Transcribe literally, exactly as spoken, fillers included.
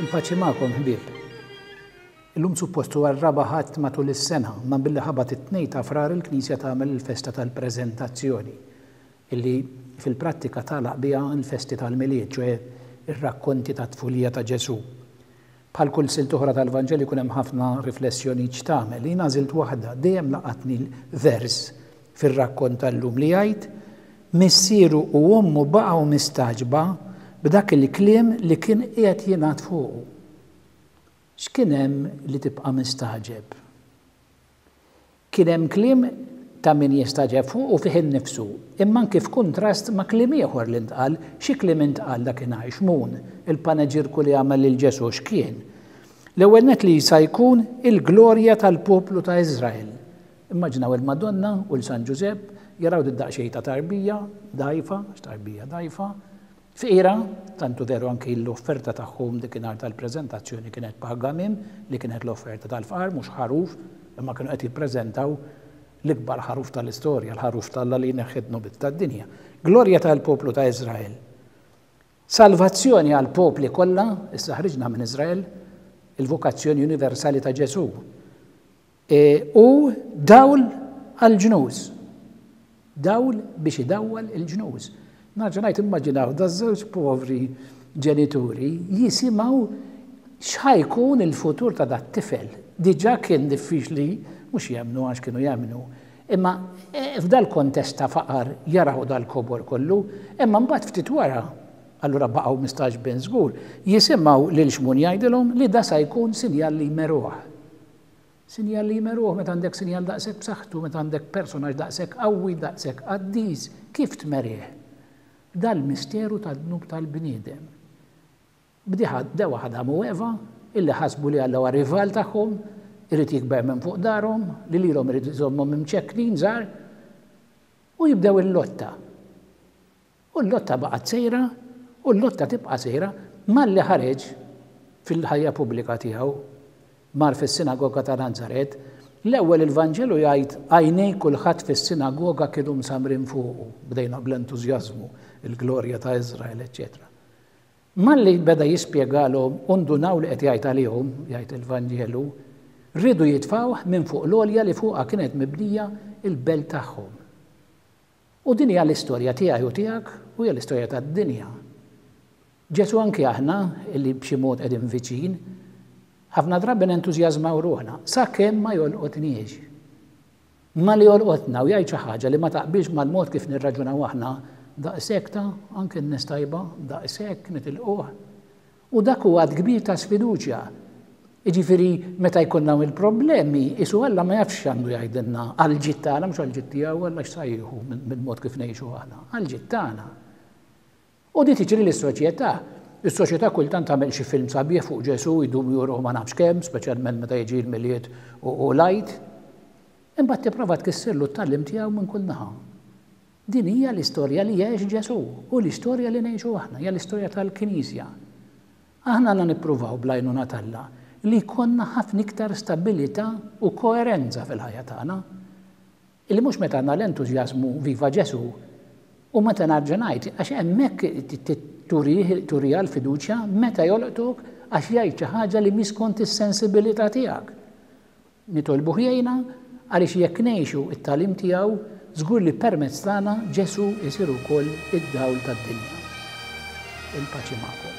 Il-paċi magħkom, ħbieb. Illum suppost huwa r-raba' Ħadd matul is-sena, ma billi ħabat it-tnejn ta' Frar il-Knisja tagħmel il-festa tal-Preżentazzjoni, illi fil-prattika tagħlaq biha l-festi tal-Milied, ċoè ir-rakkonti ta' tfulija ta' Ġesù. Bħal kull silt oħra tal-Vanġelu jkun hemm ħafna riflessjonijiet x'tagħmel. Jien għażilt waħda, dejjem laqatni l-vers fir-rakkont tal-lum li jgħid: missieru u ommu baqgħu mistagħġba b'dak il-kliem li kien qiegħed jingħad fuqu. X'kien hemm li tibqa' mistagħġeb? Kien hemm kliem ta' min jistagħġeb fuq u fih innifsu, imma anki f'kuntrast ma' kliem ieħor li ntqal. Xi kliem intqal dakinhar? Xmun, il-paneġirku li għamel lil Ġesù x'kien? L-ewwel nett li sa jkun il-glorja tal-poplu ta' Iżrael. Immaġinaw il-Madonna u l-San Ġużepp jaraw did-daqsxejn ta' tarbija, dgħajfa, x'tarbija dgħajfa, fqira, tantu veru anki l-offerta tagħhom dikinhar tal-preżentazzjoni kienet pagamim, li kienet l-offerta tal-fqar, mhux ħaruf, imma kienu qed jippreżentaw l-ikbar ħaruf tal-istorja, l-ħaruf t'Alla li jneħħi d-dnubiet tad-dinja. Glorja tal-poplu ta' Iżrael. Salvazzjoni għall-popli kollha, issa ħriġna minn Iżrael, il-vokazzjoni universali ta' Ġesù. E, u dawl għall-ġnus. Dawl biex idawwal il-ġnus. Nerġa' ngħid, immaġinaw da żewġ povri ġenituri jisimgħu x'ħa jkun il-futur ta' dat tifel. Diġà kien diffiċli mhux jemmnu, għax kienu jemmnu. Imma f'dal kontest ta' faqar jaraw dal-kobor kollu, imma mbagħad ftit wara, allura baqgħu mistagħġbin żgur, jisimgħu lil Xmun jgħidilhom li da sa jkun sinjal li jmeruh. Sinjal li jmeruh, meta għandek sinjal daqshekk b'saħħtu, meta għandek personaġġ daqshekk qawwi, daqshekk qaddis, kif tmerih? Dal-misteru tad-dnub tal-bniedem. Bdiħa dewa Adam u Eva, illi ħasbu li Alla huwa rival tagħhom, irid jikber minn fuq darhom, li lilhom irid iżommhom imċekknin żgħar, u jibdew il-lotta. U l-lotta baqgħet sejra, u l-lotta tibqa' sejra, malli ħareġ fil-ħajja pubblika tiegħu, mar fis-sinagoga ta' Nazaret, l-ewwel il-Vanġelu jgħid għajnej kulħadd fis-sinagoga kienu msamrin fuqu, bdejna bl-entużjażmu, il-glorja ta' Iżrael, eċċetera. Malli beda jispjegalhom u ndunaw li qed jgħid għalihom, jgħid il-Vanġelu, rridu jitfgħuh minn fuq l-għolja li fuqha kienet mibnija il-belt tagħhom. U din hija l-istorja tiegħi u tiegħek u hija l-istorja tad-dinja. Ġesù anki aħna li b'xi mod qegħdin viċin, ħafna drabi nentużjażmaw ruħna sakemm ma jolqotniex. Ma li jolqotna u jgħid xi ħaġa li ma taqbilx mal-mod kif nirraġunaw aħna, daqshekk ta' anke n-nies tajba, daqshekk nitilquh. U dak huwa għadd kbir ta' sfiduċja. Jiġifieri meta jkollna il-problemi, isu Alla ma jafx x'għandu jgħidilna għall-ġid tagħna, mhux għall-ġid tiegħu, Alla x'sa jieħu mill-mod kif ngħixu aħna, għall-ġid tagħna. U di tiġri lis-soċjetà. Is-soċjetà kultant tagħmel xi film sabiħ fuq Ġesù jdum juruh ma nafx kemm, speċjalment meta jiġi l-Milied u l-Għid. Imbagħad tipprova tkissirlu t-tagħlim tiegħu minn kull naħa. Din hija l-istorja li għex Ġesù u l-istorja li ngħixu aħna, hija l-istorja tal-Knisja. Aħna għandna nippruvaw bl-għajnuna t'Alla li jkollna ħafna iktar stabilità u koerenza fil-ħajja tagħna. Illi mhux meta għandna l-entużjażmu viva Ġesù u meta nerġa' ngħid, għax hemmhekk turija l-fiduċja meta jolqtuk għax jgħid xi ħaġa li mhix skont is-sensibilità tiegħek. Nitolbuh jgħinna għaliex jekk ngħixu t-tagħlim tiegħu, żgur li permezz tagħna Ġesù jsir ukoll id-dawl tad-dinja. Il-paċi magħkom.